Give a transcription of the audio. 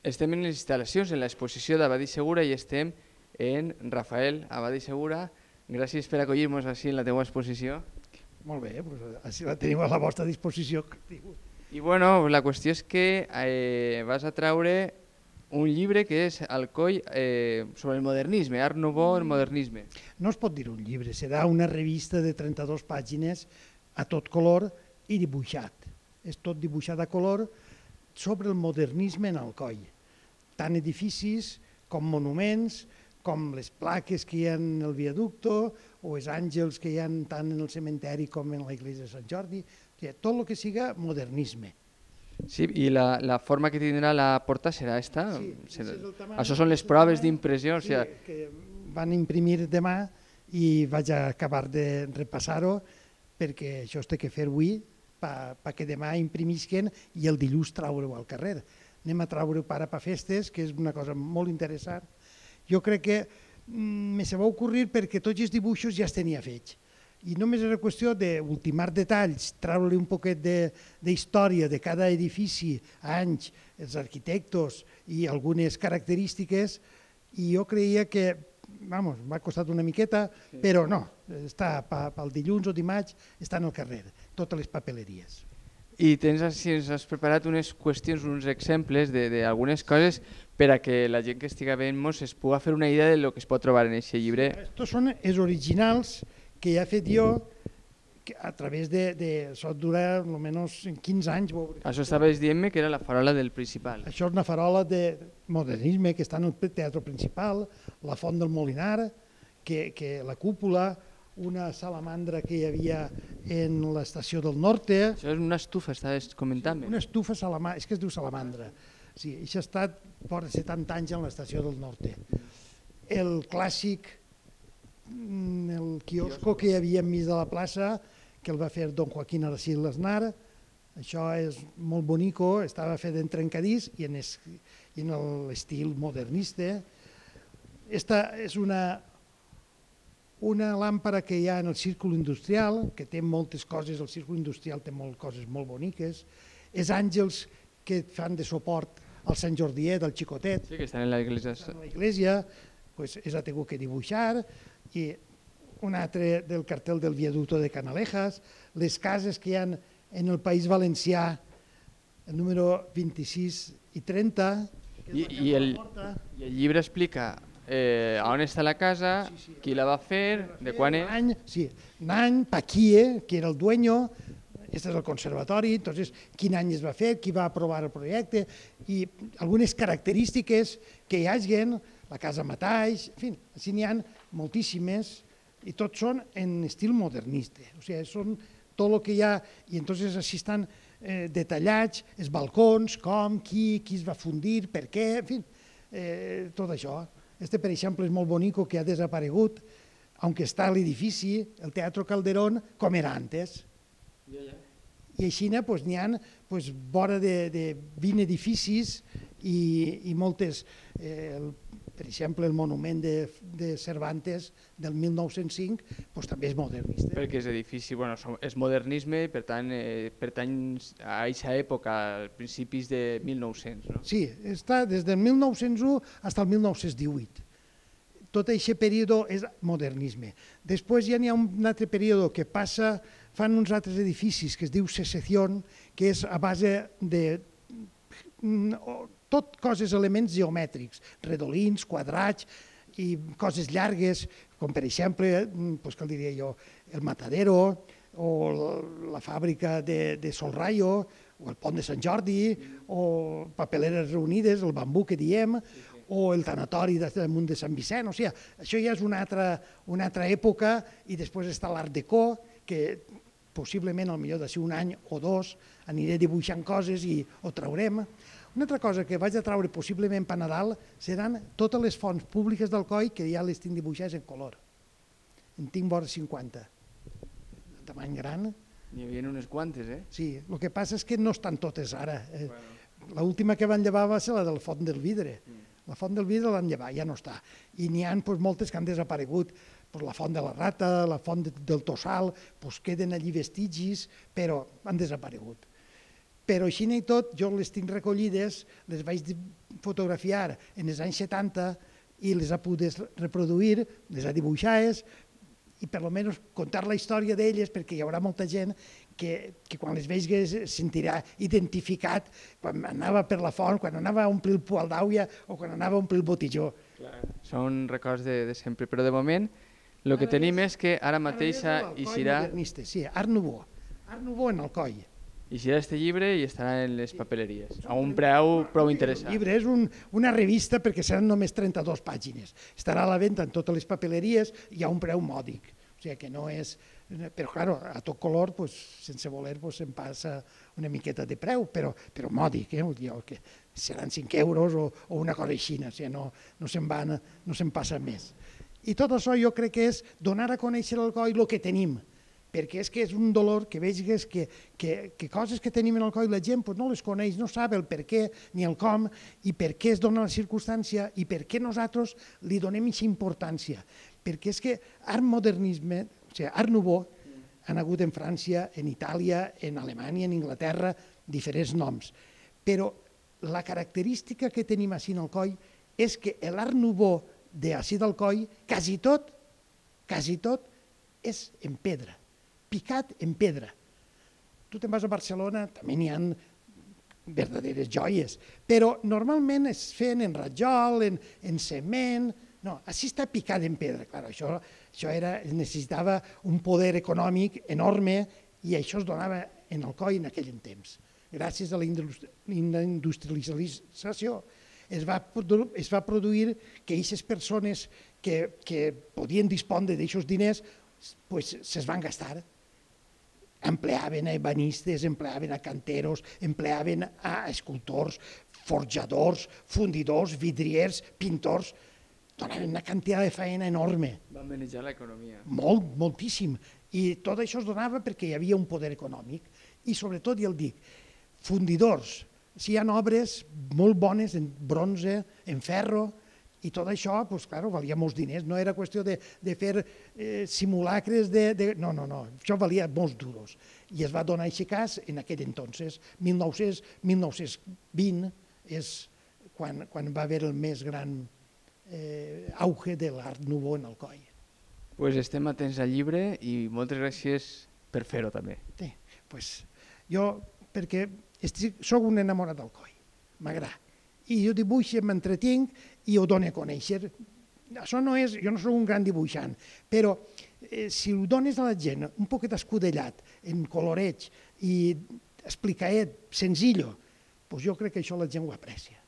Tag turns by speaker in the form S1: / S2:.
S1: Estem en les instal·lacions, en l'exposició d'Abadi Segura, i estem en Rafael Abadi Segura. Gràcies per acollir-nos així en la teva exposició.
S2: Molt bé, així la tenim a la vostra disposició.
S1: I bueno, la qüestió és que vas a treure un llibre que és Alcoi sobre el modernisme, Art Nouveau, el modernisme.
S2: No es pot dir un llibre, serà una revista de 32 pàgines a tot color i dibuixat. És tot dibuixat a color sobre el modernisme en Alcoi. Tant edificis com monuments, com les plaques que hi ha en el viaducto o els àngels que hi ha tant en el cementeri com en la iglesia de Sant Jordi. Tot el que siga modernisme.
S1: Sí, i la forma que tindrà la porta serà esta?
S2: Sí,
S1: això són les proves d'impressió?
S2: Sí, que van imprimir demà i vaig acabar de repassar-ho perquè això es té que fer avui perquè demà imprimisquen i el dilluns traure-ho al carrer. Anem a traure-ho para pa festes, que és una cosa molt interessant. Jo crec que me se va ocorrir perquè tots els dibuixos ja es tenia fets. I només era qüestió d'ultimar detalls, treure-li un poquet d'història de cada edifici, anys, els arquitectes i algunes característiques, i jo creia que, m'ha costat una miqueta, però no, està pel dilluns o dimarts, està al carrer, totes les papeleries.
S1: I ens has preparat unes qüestions, uns exemples d'algunes coses per a que la gent que estigui veient-nos es pugui fer una idea del que es pot trobar en aquest llibre.
S2: Estos són els originals que he fet jo a través de... Això dura almenys 15 anys.
S1: Això estaves dient-me que era la farola del Principal.
S2: Això és una farola de modernisme que està en el Teatre Principal, la Font del Molinar, que la cúpula, una salamandra que hi havia en l'estació del Norte.
S1: Això és una estufa, estaves comentant-me.
S2: Una estufa salamandra, és que es diu salamandra. Sí, això ha estat fora 70 anys en l'estació del Norte. El clàssic, el quiosco que hi havia enmig de la plaça, que el va fer don Joaquín Aracil Aznar. Això és molt bonico, estava fet en trencadís i en l'estil modernista. Esta és una làmpara que hi ha en el círculo industrial, que té moltes coses, el círculo industrial té coses molt boniques. Els àngels que fan de suport al Sant Jordiet, al Xicotet.
S1: Sí, que estan en l'església.
S2: En l'església, és ha tingut que dibuixar. I un altre del cartel del viaducto de Canalejas, les cases que hi ha en el País Valencià, el número 26 i 30.
S1: I el llibre explica on està la casa, qui la va fer, de quan és.
S2: Sí, l'any, Paquie, que era el dueño, aquest és el conservatori, entonces quin any es va fer, qui va aprovar el projecte i algunes característiques que hi hagin, la casa mateix, en fi, així n'hi ha moltíssimes i tots són en estil modernista, o sigui, són tot el que hi ha i entonces així estan detallats, els balcons, com, qui es va fundir, per què, en fi, tot això. Este, per exemple, és molt bonico que ha desaparegut, aunque està a l'edifici, el Teatro Calderón, com era antes. I així n'hi ha vora de 20 edificis i moltes, per exemple, el monument de Cervantes del 1905 també és modernista.
S1: Perquè és edifici, és modernisme, per tant, pertany a aquesta època, als principis de 1900, no?
S2: Sí, està des del 1901 fins al 1918. Tot aquest període és modernisme. Després ja n'hi ha un altre període que passa, fan uns altres edificis que es diu Secessió, que és a base de tot coses, elements geomètrics, redolins, quadrats i coses llargues, com per exemple, què diria jo, el Matadero o la fàbrica de Solrayo o el pont de Sant Jordi o Papeleres Reunides, el bambú que diem, o el tanatori damunt de Sant Vicent. O sigui, això ja és una altra època i després està l'Art Deco, que possiblement, potser d'ací un any o dos, aniré dibuixant coses i ho traurem. Una altra cosa que vaig a traure possiblement per Nadal seran totes les fonts públiques d'Alcoi que ja les tinc dibuixades en color. En tinc vora 50. De tamany gran.
S1: N'hi havia unes quantes, eh?
S2: Sí, el que passa és que no estan totes ara. L'última que van llevar va ser la del Font del Vidre. La Font del Vidre l'han llevat, ja no està. I n'hi ha moltes que han desaparegut. La Font de la Rata, la Font del Tossal, queden allí vestigis, però han desaparegut. però així i tot jo les tinc recollides, les vaig fotografiar en els anys 70 i les ha pogut reproduir, les ha dibuixades, i per almenys contar la història d'elles, perquè hi haurà molta gent que quan les vegi se sentirà identificat quan anava per la font, quan anava a omplir el poal d'àuia o quan anava a omplir el botijó.
S1: Són records de sempre, però de moment el que tenim és que ara mateix eixirà
S2: Sí, Art Nouveau. Art Nouveau en Alcoi.
S1: este llibre i estarà en les papeleries, a un preu prou interessant.
S2: El llibre és una revista perquè seran només 32 pàgines. Estarà a la venda en totes les papeleries i a un preu mòdic. O sigui que no és... Però, clar, a tot color, sense voler, se'n passa una miqueta de preu, però mòdic, que seran 5 euros o una cosa així, o sigui, no se'n passa més. I tot això jo crec que és donar a conèixer l'Alcoi el que tenim, perquè és que és un dolor que veges que coses que tenim en Alcoi la gent no les coneix, no sap el per què ni el com i per què es dona la circumstància i per què nosaltres li donem aquesta importància. Perquè és que art modernisme, o sigui, art nouveau, han hagut en França, en Itàlia, en Alemanya, en Inglaterra, diferents noms. Però la característica que tenim així en Alcoi és que l'art nouveau d'ací d'Alcoi, quasi tot és en pedra, picat en pedra. Tu te'n vas a Barcelona, també n'hi ha verdaderes joies, però normalment es feien en rajol, en cement. No, així està picat en pedra. Clar, això necessitava un poder econòmic enorme i això es donava en Alcoi en aquell temps. Gràcies a la industrialització es va produir que aquestes persones que podien dispondre d'aixòs diners se'ls van gastar. Empleaven a ebanistes, empleaven a canteros, empleaven a escultors, forjadors, fundidors, vidriers, pintors. Donaven una quantitat de feina enorme.
S1: Van manejar l'economia.
S2: Moltíssim. I tot això es donava perquè hi havia un poder econòmic. I sobretot, ja el dic, fundidors. Hi ha obres molt bones en bronze, en ferro, i tot això, clar, valia molts diners. No era qüestió de fer simulacres de... No, això valia molts duros. I es va donar aquest cas en aquell entonces. 1920 és quan va haver el més gran auge de l'art nouveau en Alcoi.
S1: Doncs estem atents al llibre i moltes gràcies per fer-ho també.
S2: Sí, jo, perquè soc un enamorat d'Alcoi, m'agrada. I jo dibuixo, m'entretinc i ho dono a conèixer. Això no és, jo no soc un gran dibuixant, però si ho dones a la gent un poquet escudellat, en coloreig i explicaet, senzillo, jo crec que això la gent ho aprecia.